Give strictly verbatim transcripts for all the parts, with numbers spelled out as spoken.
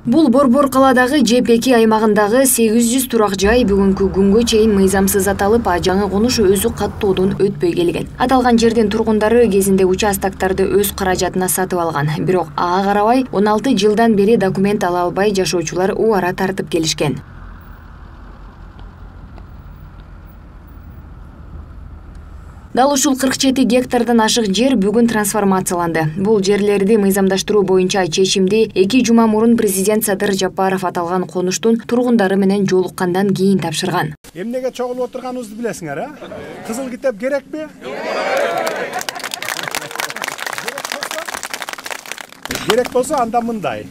Бул Борбор каладагы Ж П К аймагындагы сегиз жүз турак жай бүгүнкү күнгө чейин мыйзамсыз аталып, а жаңы конуш өзү каттоодон өтпөй келген. Аталган жердин тургундары кезинде участоктарды өз каражатына сатып алган. Бирок ага карабай он алты жылдан бери документ ала албай жашоочулар убара тартып келишкен. Дал ушул кырк жети гектардан ашык жер бүгүн трансформацияланды. Бул жерлерди мыйзамдаштыруу боюнча чечимди эки жума мурун президент Садыр Жапаров аталган конуштун тургундары менен жолуккандан кийин тапшырган. Эмнеге чогулуп отурганыбызды билесиңер, а? Кызыл китеп керекпи? Керек болсо анда мындай.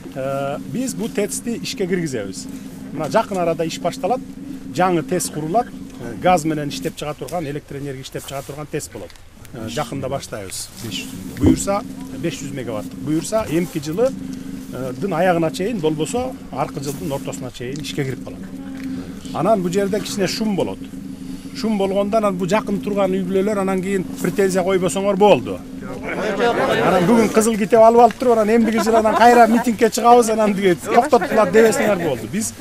Биз бул ТЭЦти ишке киргизебиз. Мына жакын арада иш башталат, жаңы ТЭЦ курулат. Газ менен иштеп чыга турган, электр энергия иштеп чыга турган ТЭЦ болот. Жакында баштайбыз. Буюрса беш жүз мегаватт. Буюрса эмки жылдын аягына чейин, болбосо аркы жылдын ортосуна чейин ишке кирип калат. Анан бул жерде кичине шум болот. Шум болгондон анан бул жакын турган үй бүлөлөр анан кийин претензия койбосоңор болду. Анан бүгүн кызыл китеп алып алып туруп, анан эмдиги жыл анан кайра митингге чыгабыз, анан диге токтоттулар дебесиңер болду. Биз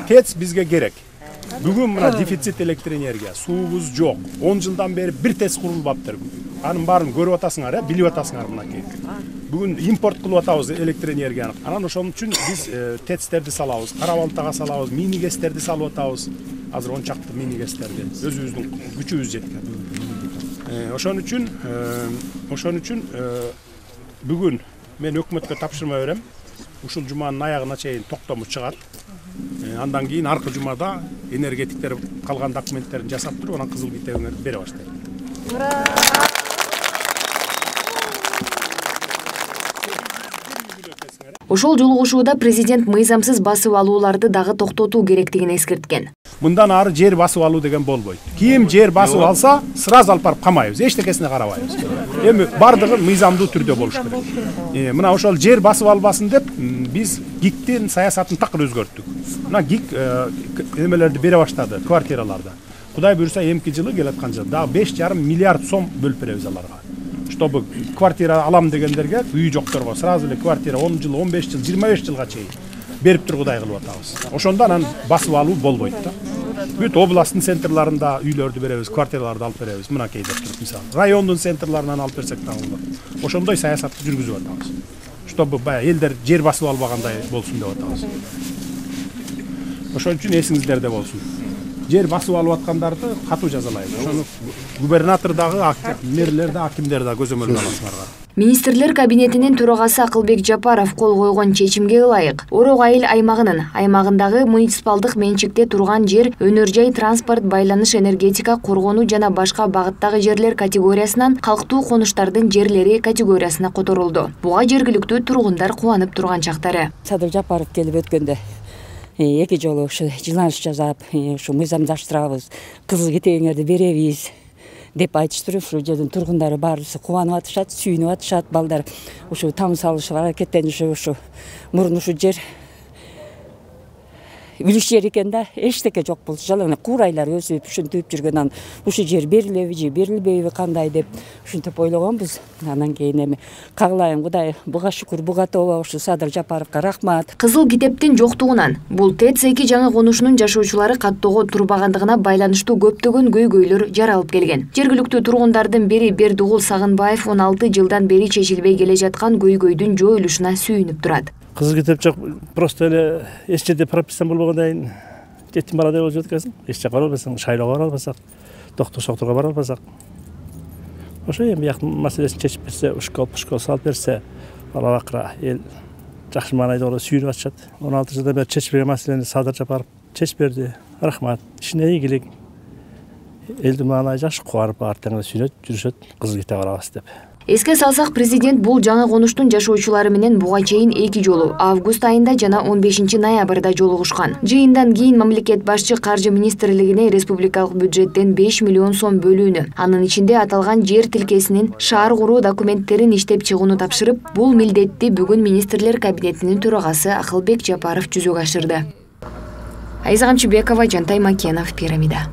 ТЭЦ бизге керек. Бүгүн мына дефицит электр энергия, суубуз жок. он жылдан бери бир ТЭЦ курулбаптыр. Анын баарын көрүп атасыңар, билип атасыңар мынакей. Бүгүн импорт кылып атабыз электр энергияны. Анан ошон үчүн биз ТЭЦтерди салабыз, Кара Балтага салабыз, мини гэстерди салып атабыз. Азыр он чакты мини гэстерди өзүбүздүн күчүбүз жеткен. Ошон үчүн, ошон үчүн бүгүн мен өкмөткө тапшырма берем. Ушул жуманын аягына чейин токтому чыгат. Андан кийин аркы жумада энергетиктер калган документтерин жасап туруп, анан кызыл китебиңерди бере баштайт. Ошол жолугушууда президент мыйзамсыз басып алууларды дагы токтотуу керектигин эскерткен. Мындан ары жер басып алуу деген болбойт. Ким жер басып алса, сразу алып барып камайбыз, эчтекесине карабайбыз. Эми бардыгы мыйзамдуу түрдө болуш керек. Мына ошол жер басып албасын деп биз ГИКтин саясатын такыр өзгөрттүк. Мына ГИК эмелерди бере баштады, квартираларда. Кудай буюрса эмки жылы келаткан жыл дагы беш жарым миллиард сом бөлүп беребиз аларга. Чтобы квартира алам дегендерге, үй жокторго сразу эле квартира он жыл, он беш жыл, жыйырма беш жылга чейин берип тургудай кылып атабыз. Ошондо анан басып алуу болбойт да. Бүт областтын центрларында үйлөрдү беребиз, квартираларды алып беребиз. Мынакей деп туруп, мисалы, райондун центрларынан алып берсек дагы болот. Ошондой саясатты жүргүзүп атабыз. Чтобы баягы элдер жер басып албагандай болсун деп атабыз. Ошон үчүн эсиңиздерде болсун. Жер басып алып аткандарды катуу жазалайбыз. Ошону губернатор дагы, мэрлер да, акимдер да көзөмөлгө аласыңар. Министрлер кабинетинин төрагасы Акылбек Жапаров кол койгон чечимге ылайык Орок айыл аймагынын аймагындагы муниципалдык менчикте турган жер өнөр жай, транспорт, байланыш, энергетика, коргонуу жана башка багыттагы жерлер категориясынан калктуу конуштардын жерлери категориясына которулду. Буга жергиликтүү тургундар кубанып турган чактары. Садыр Жапаров келип өткөндө эки жолу ушу жыланыш жасап, ушу мыйзамдаштырабыз, кызыл китебиңерди беребиз деп айтыштырып, ушу жердин тургундары баарысы кубанып атышат, сүйүнүп атышат, балдар ушу тамыз салышып аракеттенишип, ушу мурун ушу жер үлүш жер экен да, эчтеке жок болчу. Жалаң куурайлар өсүп, ушинтип жүргөн, ушу жер берилеби же берилбейби кандай деп ушинтип ойлогонбуз. Анан кийин эми кагылайын, Кудай буга шүкүр, буга тооба, ушу Садыр Жапаровго рахмат. Кызыл китептин жоктугунан бул ТЭЦ эки жаңы конушунун жашоочулары каттоого турбагандыгына байланыштуу көптөгөн көйгөйлөр жаралып келген. Жергиликтүү тургундардын бири Бердугул Сагынбаев он алты жылдан бери чечилбей келе жаткан көйгөйдүн жоюлушуна сүйүнүп турат. Кызыл китеп жок, просто эле эч жерде прописан болбогондон жетим баладай болуп жатат экен. Эч жака бара албасаң, шайлоого бара албасак, доктор шоктурга бара албасак. Ошо эми бияктын маселесин чечип берсе, школ, школ салып берсе, бала бакыра эл жакшы маанайда сүйүнүп атышат. он алты жылдан бери чечилбеген маселени Садыр Жапаров чечип берди. Рахмат. Ишине ийгилик. Элдин маанайы жакшы кубанып, артынан сүйүнөт, жүрүшөт, кызыл китеп алабыз деп. Эске салсак, президент бул жаңы конуштун жашоочулары менен буга чейин эки жолу август айында жана он бешинчи ноябрда жолугушкан. Жыйындан кийин мамлекет башчы Каржы министрлигине республикалык бюджеттен беш миллион сом бөлүүнү, анын ичинде аталган жер тилкесинин шаар куруу документтерин иштеп чыгууну тапшырып, бул милдетти бүгүн министрлер кабинетинин төрагасы Акылбек Жапаров жүзөгө ашырды. Айза Камчыбекова, Жантай Макенов, Пирамида.